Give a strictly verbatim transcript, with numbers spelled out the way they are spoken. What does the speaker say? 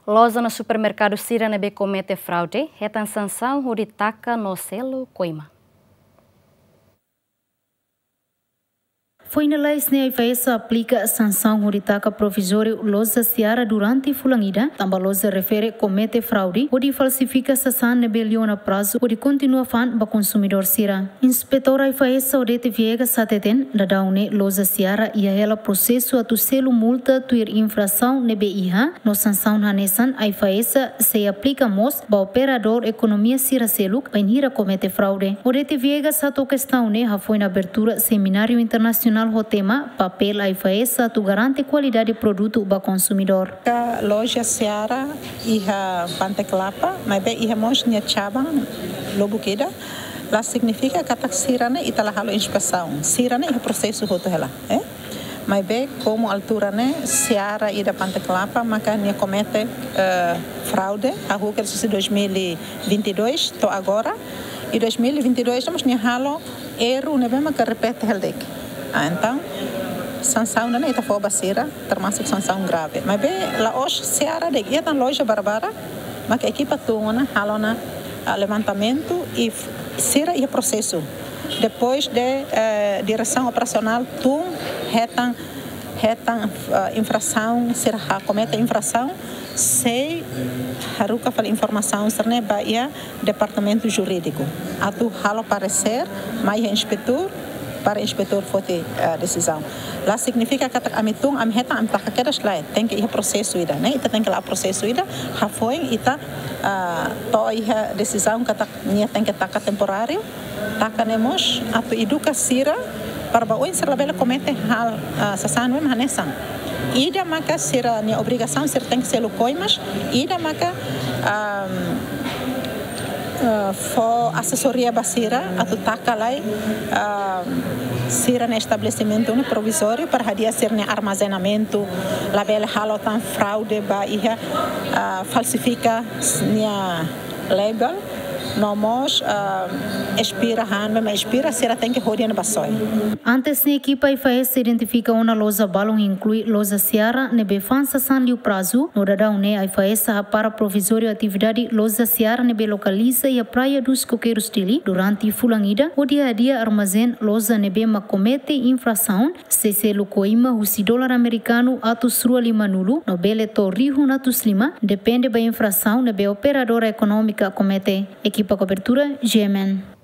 Loja no supermerkadu sira ne'ebé komete fraude hetan sansaun hodi taka no selu koima. Foin lalais ne'e AIFAESA aplika sansaun hodi taka provizóriu loja Seara durante fulan ida, tanba loja refere komete fraude hodi falsifika sasán ne'ebé liu ona prazu hodi kontinua fa'an ba konsumidór sira. Inspetór AIFAESA Odete Viegas hateten, daudaun ne'e loja Seara iha hela prosesu atu selu multa tuir infrasaun ne'ebé iha, no sansaun hanesan AIFAESA sei aplika mós ba operadór ekonomia sira seluk bainhira komete fraude. Odete Viegas hato'o kestaun ne'e hafoin abertura semináriu internasionál ho tema Papél AIFAESA atu garante kualidade produtu ba konsumidór. Ka loja Seara iha Pante Klapa, maibé iha mós nia cabang lubuk ida, la signifika katak sira ne'e ita la halo inspesaun. Sira ne'e iha prosesu hotu hela, eh? Maibé, komu altura ne'e, Seara ida Pante Klapa, maka nia komete, eh, fraude, hahú kedas husi dois mil e vinte e dois, to'o agora. I dois mil e vinte e dois, mós nia halo erru ne'ebé maka repete hela de'it. Ah, entaun, sansaun ne'e ita fó ba sira, termasuk sansaun grave. Maibé, la'ós Seara de'it, iha tan loja barak-barak, maka ekipa tun ona, halo ona, ah, levantamentu i f-, sira iha prosesu. Depois de, eh, diresaun operasionál tun hetan, hetan, eh, infrasaun, sira komete infrasaun, sei haruka fali informasaun sira-ne'e ba iha departamentu jurídiku. Atu halo paresér mai iha inspetór, para inspetór foti, eh, desizaun. La signifika katak ami tun, ami hetan, ami taka kedas, lae. Tenke iha prosesu ida, ne'e? Ita tenke la'o prosesu ida, hafoin ita, ah, to'o iha desizaun katak nia tenke taka temporáriu, taka ne'e mós atu eduka sira, para ba oin sira labele komete hal, ah, sasán ne'ebé hanesan. Ida maka sira-nia obrigasaun, sira tenke selu koimas, ida maka, am, eh, fó asesoria ba sira, atu taka lai, am, sira-nia estabelesimentu ne'e provizóriu para hadi'a sira-nia armazenamentu, labele halo tan fraude ba iha, ah, falsifika nia label, no mós, ah, espera han, maibé espera sira tenke hodi ona ba soe. Antes ne'e ekipa AIFAESA identifika ona loja balun inklui loja Seara ne'ebé fa'an sasán liu prazu, no daudaun ne'e AIFAESA hapara provizóriu atividade loja Seara ne'ebé lokaliza iha Praia dos Coqueiros, Dili, durante fulan ida, hodi hadi'a armazén loja ne'ebé mak komete infrasaun, sei selu koima husi dolar amerikanu atus rua lima-nulu no bele to'o rihun atus lima, depende ba infrasaun ne'ebé operadora ekonómika komete. Ekipa kobertura, G M N.